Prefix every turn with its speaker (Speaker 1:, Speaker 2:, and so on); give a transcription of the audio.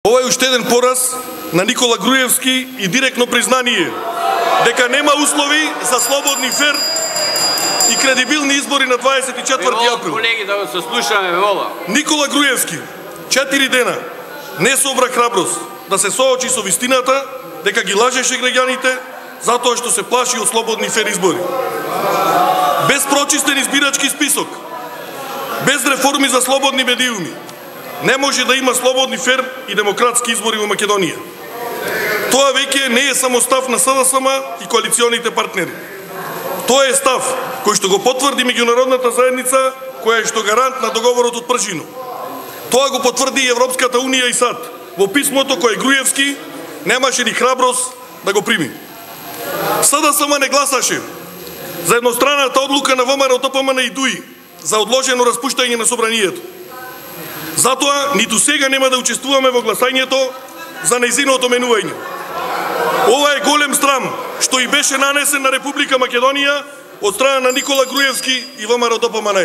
Speaker 1: Ова е уште еден пораз на Никола Груевски и директно признание дека нема услови за слободни, фер и кредибилни избори на 24 април.
Speaker 2: Колеги, да се слушаме, вола.
Speaker 1: Никола Груевски 4 дена не собра храброст да се соочи со вистината дека ги лажеше граѓаните затоа што се плаши од слободни, фер избори. Без прочистен избирачки список, без реформи за слободни медиуми, не може да има слободни, фер и демократски избори во Македонија. Тоа веќе не е само став на СДСМ и коалиционите партнери. Тоа е став кој што го потврди меѓународната заедница, која е што гарант на договорот од Пржино. Тоа го потврди и Европската унија и САД во писмото кое Груевски немаше ни храброст да го прими. СДСМ не гласаше за едностранната одлука на ВМРО, ДПМН и ДУИ за одложено распуштање на собранието. Затоа ниту сега нема да учествуваме во гласањето за нејзиното менување. Ова е голем срам што и беше нанесен на Република Македонија од страна на Никола Груевски и ВМРО ДПМН.